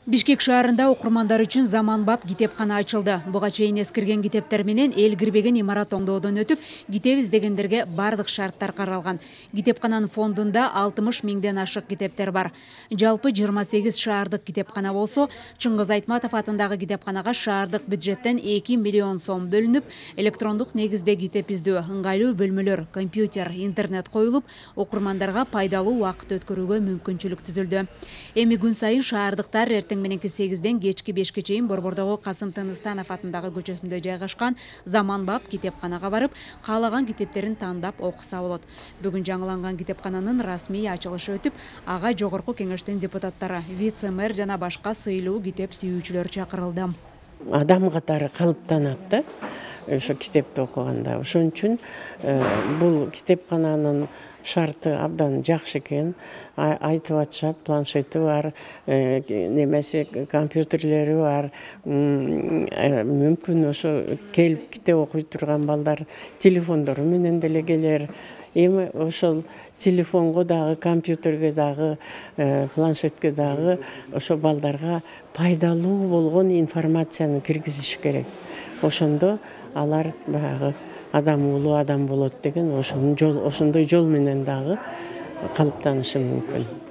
Бишкек шаарында окурмандар үчүн заманбап китепкана ачылды. Буга чейин эскирген китептер менен эл кирбеген имарат оңдоодон өтүп, китеп издегендерге бардык шарттар каралган. Китепкананын фондунда 60 миңден ашык китептер бар. Жалпы 28 шаардык китепкана болсо, Чыңгыз Айтматов атындагы китепканага шаардык бюджеттен 2 миллион сом бөлүнүп, электрондук негизде китеп издөө, ыңгайлуу бөлмөлөр, компьютер, интернет коюлуп, окурмандарга пайдалуу убакыт өткөрүүгө мүмкүнчүлүк түзүлдү. Эми күн сайын шаардыктар эртең мененки 8-ден кечки 5-ке чейин Борбордогу Касым Тыныстанов атындагы көчөсүндө жайгашкан заманбап китепканага барып, каалаган китептерин тандап окуса болот. Бүгүн жаңыланган китепкананын расмий ачылышы өтүп, ага жогорку кеңештин депутаттары, вице-мэр жана башка сыйлуу китеп сүйүүчүлөр чакырылды. Адам катары калыптанат да ошо китепти окуганда. Ошон үчүн бул китепкананын шарты абдан жакшы экен. Айтып атышат, планшети бар, немеси компьютерлери бар. Мүмкүн ошо келип китеп окуй турган балдар телефондору менен деле келер. Эми ошол телефонго дагы, компьютерге дагы, планшетке дагы ошо балдарга пайдалуу болгон информацияны киргизиш керек. Ошондо алар баягы улуу адам болот деген ошондой жол менен дагы калыптанышы мүмкүн.